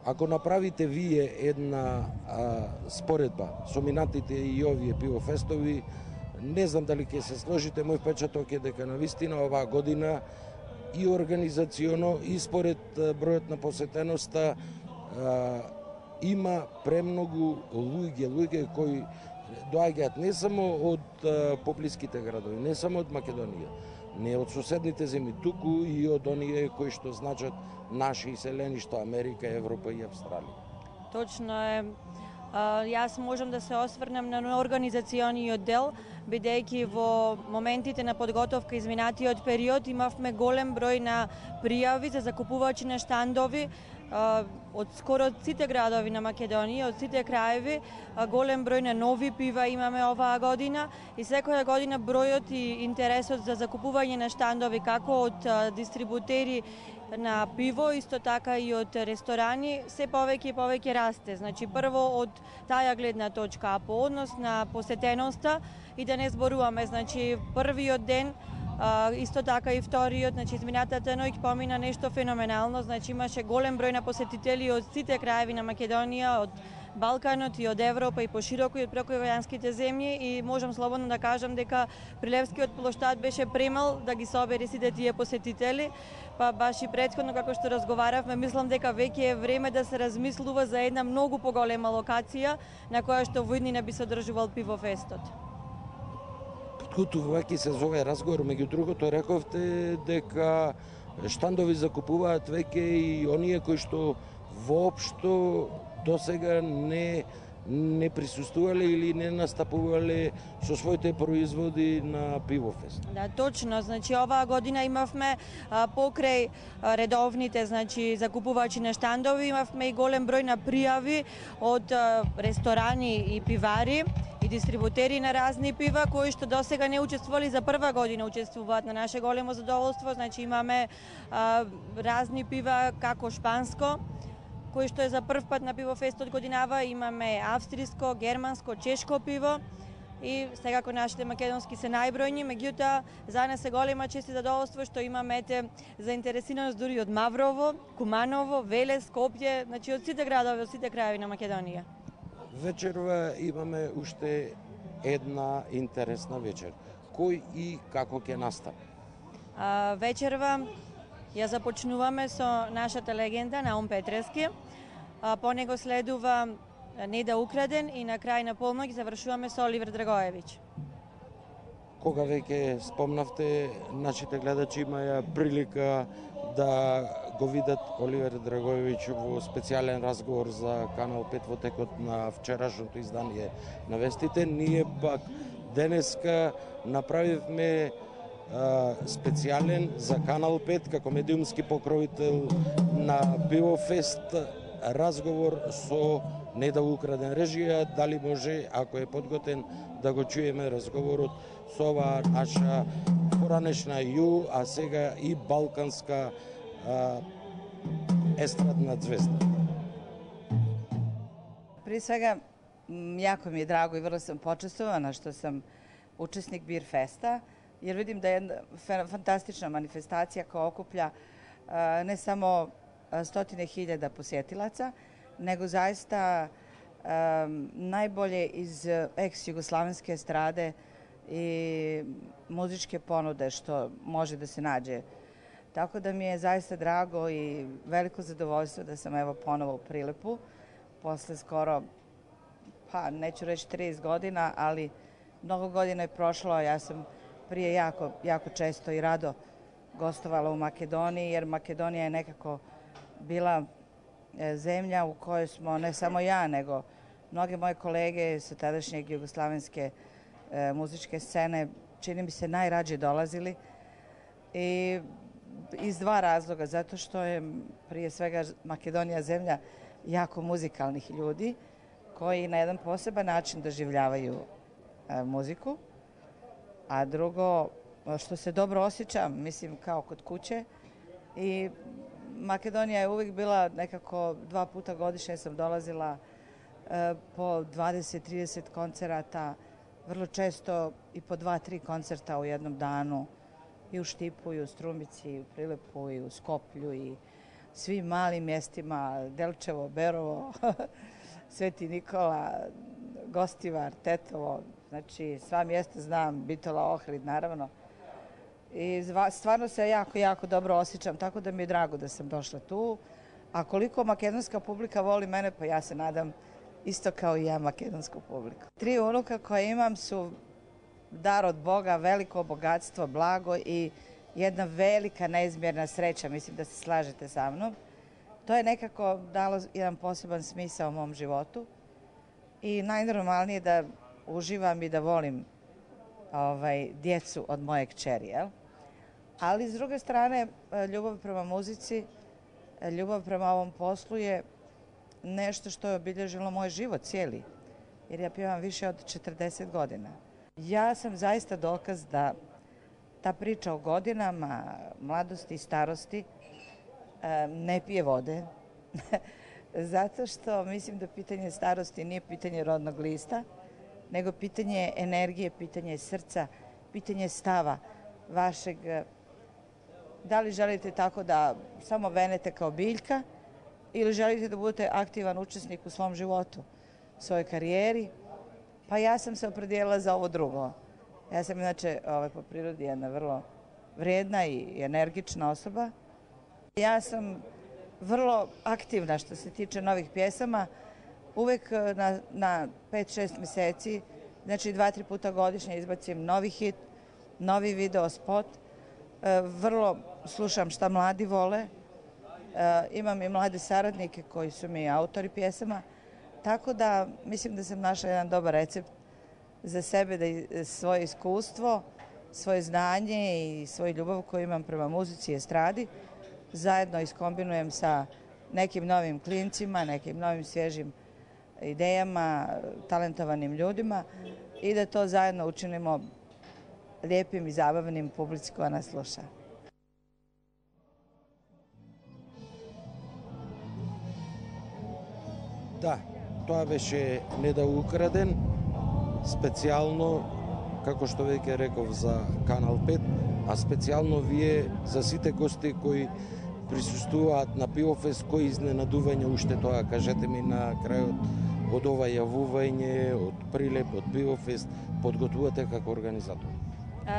Ако направите вие една споредба со минатите и овие пивофестови, не знам дали ќе се сложите, мој впечаток е дека навистина оваа година и организационо и според бројот на посетеноста има премногу луѓе кои доаѓаат не само од поблиските градови, не само од Македонија, не од соседните земји, туку и од оние кои што значат наши иселеништа, Америка, Европа и Австралија. Точно е. Јас можам да се осврнем на организациониот дел, бидејќи во моментите на подготовка изминатиот период имавме голем број на пријави за закупувачи на штандови од скоро сите градови на Македонија, од сите краеви, голем број на нови пива имаме оваа година и секоја година бројот и интересот за закупување на штандови како од дистрибутери на пиво, исто така и од ресторани, се повеќе и повеќе расте. Значи, прво од таја гледна точка, а по однос на посетеноста и да не зборуваме, значи, првиот ден, исто така и вториот, значи, изминатата ноќ помина нешто феноменално, значи, имаше голем број на посетители од сите краеви на Македонија, од Балканот и од Европа и пошироко и од прекојаванските земји и можам слободно да кажам дека Прилевскиот плоштад беше премал да ги собере сите тие посетители, па баш и претходно како што разговаравме, мислам дека веќе е време да се размислува за една многу поголема локација на која што во иднина би се одржувал пивофестот. Подкутувајќи се за овој разговор, меѓу другото рековте дека штандови закупуваат веќе и оние кои што воопшто досега не присуствувале или не настапувале со своите производи на пивофест. Да, точно. Значи оваа година имавме покрај редовните, значи закупувачи на штандови, имавме и голем број на пријави од ресторани и пивари и дистрибутери на разни пива кои што досега не учествували, за прва година учествуваат, на наше големо задоволство. Значи имаме разни пива како шпанско, кој што е за прв пат на пивофестот годинава, имаме австриско, германско, чешко пиво и секако нашите македонски се најбројни, меѓутоа за нас е голема чест и задоволство што имаме заинтересираност дури од Маврово, Куманово, Велес, Скопје, значи од сите градови, од сите краеви на Македонија. Вечерва имаме уште една интересна вечер. Кој и како ќе настапи? Вечерва ја започнуваме со нашата легенда Наум Петрески, по него следува Неда Украден и на крај на полноќ завршуваме со Оливер Драгоевиќ. Кога веќе спомнавте, нашите гледачи имаја прилика да го видат Оливер Драгоевиќ во специјален разговор за Канал 5 во текот на вчерашното издание на вестите. Ние пак денеска направивме специјален за Канал 5 како медиумски покровител на Пивофест разговор со Неда Украден. Режија, дали може, ако е подготен, да го чуеме разговорот со оваа наша поранешна а сега и балканска естрадна звезда. При свега, јако ми е драго и врло сам почествувана што сам учесник Бирфеста, jer vidim da je jedna fantastična manifestacija koja okuplja ne samo stotine hiljada posjetilaca, nego zaista najbolje iz ex-jugoslavenske estrade i muzičke ponude što može da se nađe. Tako da mi je zaista drago i veliko zadovoljstvo da sam evo ponovo u Prilepu, posle skoro, pa neću reći 30 godina, ali mnogo godina je prošlo, ja sam prije jako često i rado gostovala u Makedoniji, jer Makedonija je nekako bila zemlja u kojoj smo, ne samo ja, nego mnoge moje kolege sa tadašnjeg jugoslavenske muzičke scene, čini mi se, najrađe dolazili. I iz dva razloga, zato što je prije svega Makedonija zemlja jako muzikalnih ljudi, koji na jedan poseban način doživljavaju muziku, a drugo, što se dobro osjećam, mislim, kao kod kuće. I Makedonija je uvijek bila nekako 2 puta godišnje sam dolazila po 20-30 koncerata, vrlo često i po 2-3 koncerta u jednom danu, i u Štipu, i u Strumici, i u Prilepu, i u Skoplju, i svim malim mjestima, Delčevo, Berovo, Sveti Nikola, Gostivar, Tetovo, znači sva mjesta znam, Bitola, Ohrid naravno. I stvarno se jako dobro osjećam, tako da mi je drago da sam došla tu. A koliko makedonska publika voli mene, pa ja se nadam isto kao i ja makedonsku publiku. 3 unuka koje imam su dar od Boga, veliko bogatstvo, blago i jedna velika neizmjerna sreća, mislim da se slažete sa mnom. To je nekako dalo jedan poseban smisao mom životu i najnormalnije da uživam i da volim djecu od moje kćeri, jel? Ali s druge strane, ljubav prema muzici, ljubav prema ovom poslu je nešto što je obilježilo moj život cijeli, jer ja pjevam više od 40 godina. Ja sam zaista dokaz da ta priča o godinama, mladosti i starosti ne pije vode, zato što mislim da pitanje starosti nije pitanje rodnog lista, nego pitanje energije, pitanje srca, pitanje stava vašeg. Da li želite tako da samo venete kao biljka ili želite da budete aktivan učesnik u svom životu, svojoj karijeri? Pa ja sam se opredijelila za ovo drugo. Ja sam inače po prirodi jedna vrlo vrijedna i energična osoba. Ja sam vrlo aktivna što se tiče novih pjesama. Uvek na 5-6 mjeseci, znači 2-3 puta godišnje izbacim novi hit, novi video spot. Vrlo slušam šta mladi vole. Imam i mlade saradnike koji su mi autori pjesama. Tako da mislim da sam našla jedan dobar recept za sebe, da svoje iskustvo, svoje znanje i svoju ljubav koju imam prema muzici i estradi zajedno iskombinujem sa nekim novim klincima, nekim novim svježim idejama, talentovanim ljudima i da to zajedno učinimo lijepim i zabavnim publici koja nas sluša. Да, тоа беше Не да украден, специјално, како што веќе реков, за Канал 5, а специјално вие за сите гости кои присуствуваат на Пивофест, кои изненадување уште тоа, кажете ми на крајот од ова јавување, од Прилеп, од Пивофест, подготвувате како организатор?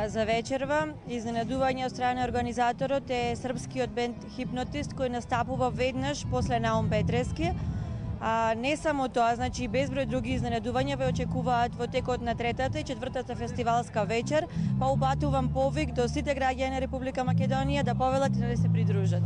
За вечерва изненадување од страна организаторот е српскиот бенд Хипнотист кој настапува веднаш после Наум Петрески. Не само тоа, значи и безброј други изненадувања ве очекуваат во текот на 3-та и 4-та фестивалска вечер, па упатувам повик до сите граѓани на Република Македонија да повелат и да се придружат.